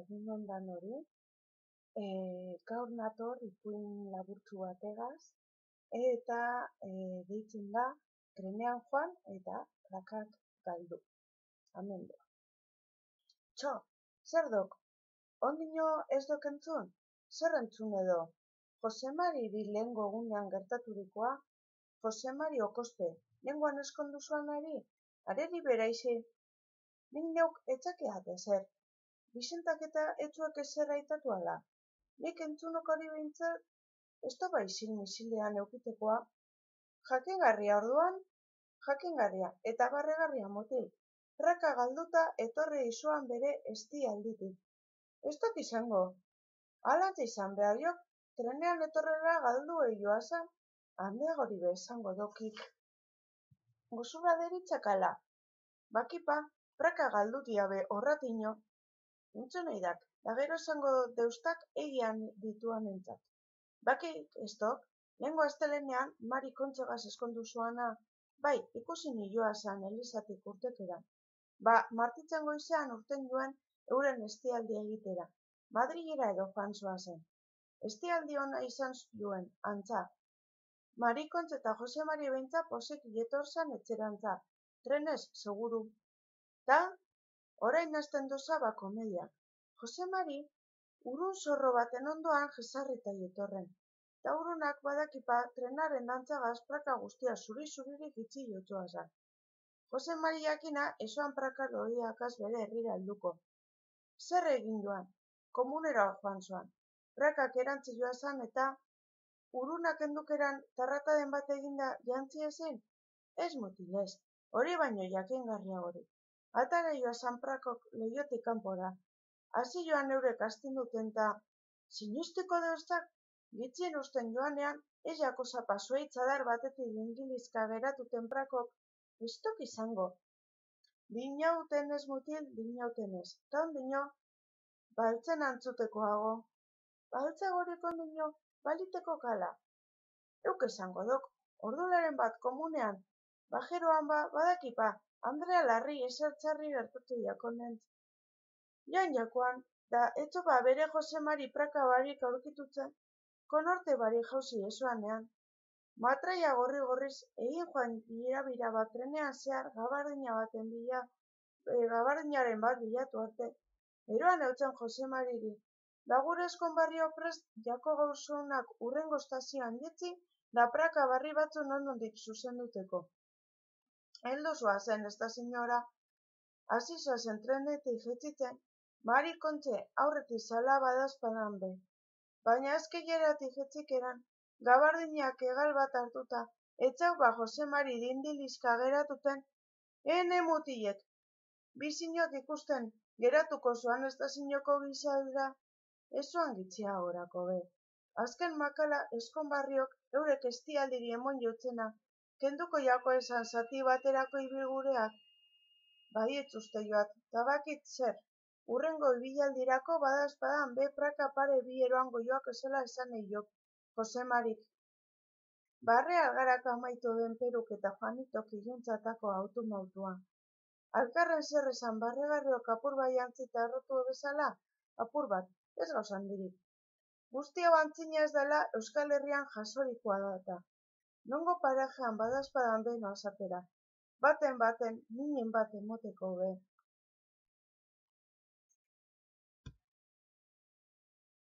egun ondan hori, gaur nator ipuin laburtsu bategaz, eta deitzen da trenean joan eta prakak galdu. Amendo. Txo, zer dok? Ondino ez dok entzun? Zer entzun edo? Josemari lehengo egunean gertaturikoa, Josemari okospe, lenguan eskondu zuanari, areri beraizi, nik neuk etxakeat ezer. Bizentak eta etzuak ezer aitatu ala. Nik entzunok hori behintzat, ez da baizin misilean eukitekoa. Jakingarria orduan, jakingarria eta barregarria motil. Praka galduta etorri izuan bere esti alditik. Ez dok izango. Alantza izan behar jok, trenean etorrera galdu joazan, handeagori bezango dokik. Gozura deritzakala. Bakipa, praka galdu diabe horratino. Entzun eidak, da gero esango deustak egian dituan entzat. Bakik ez dok, lehengo astelenean Mari kontzegaz eskondu zuana, bai, ikusi joazan Elisatik urtekeran. Martitzen goizean urten joan euren estialdi egitera. Madrilera edo joan zoazen. Estialdi ona izan duen, antza. Marikontz eta Josemari beintza posik jetorzan etxerantza. Trenez, seguru. Da, orain hasten doza komediak. Josemari, urun zorro baten ondoan jesarrita jetorren. Da urunak badakipa trenaren dantzagaz praka guztia zuri-zuririk itxi jotzoazan. Josemari jakina esoan praka loiakaz bere herrira helduko. Zer egin joan? Komunera joan zoan. Prakak erantzi joazan eta urunak endukeran tarrataden bat eginda jantzi ezin? Ez mutilez, hori baino jakingarria hori. Atara joazan prakok lehiotik kanpora. Hasi joan eurek astinduten ta, sinustiko deustak, gitzien usten joanean, ez jako zapa zueitzadar batetik ingilizka geratuten prakok, ez tok izango. Dinauten ez mutil, dinauten ez. Ta ondino, baltzen antzutekoago. Baltza goriko ondino, baliteko kala. Euk esango dok, ordularen bat komunean, bajeroan badakipa, Andrea Larri esertzarri gertatu jakonentz. Joan jakoan, da etxopa bere Josemari praka barik aurkitutzen, konorte bari jauzi esoanean. Matraia gorri-gorriz egin joan irabira bat trenean zehar gabardinaren bat bilatu arte. Eroan eutzen Josemariri, da gure eskonbarrio prest jako gauzunak urrengo estazioan jetzi, da praka barri batzu nondik zuzenduteko. Heldu zoazen, ez da senyora, hasi zoazen trenetik jetzitzen, Mari kontxe aurretik zala badazpadan be. Baina ezkeieratik jetzikeran, gabardinak egal bat hartuta, etxau Josemari dindilizka geratuten, ene mutilek, bizinok ikusten geratuko zoan ez da zinoko gizaldra, ez zoan gitzia horako be. Azken makala eskonbarriok eurek estialdiri emon jotzena, kenduko jako esan zati baterako ibilgureak. Baietz uste joat, tabakit zer, urrengo ibilaldirako badazpadan be praka pare bi eroango joak esela esan eiok, Josemarik. Barre algarak amaitu den peruk eta Juanitok iluntzatako autumautuan. Alkarren zer esan barregarriok apur bai antzita errotu bezala, apur bat, ez gauzan dirik. Guztia bantzina ez dela Euskal Herrian jasorikoa data. Nongo parajean badazpadan be noazatera. Baten, minen bat emoteko be.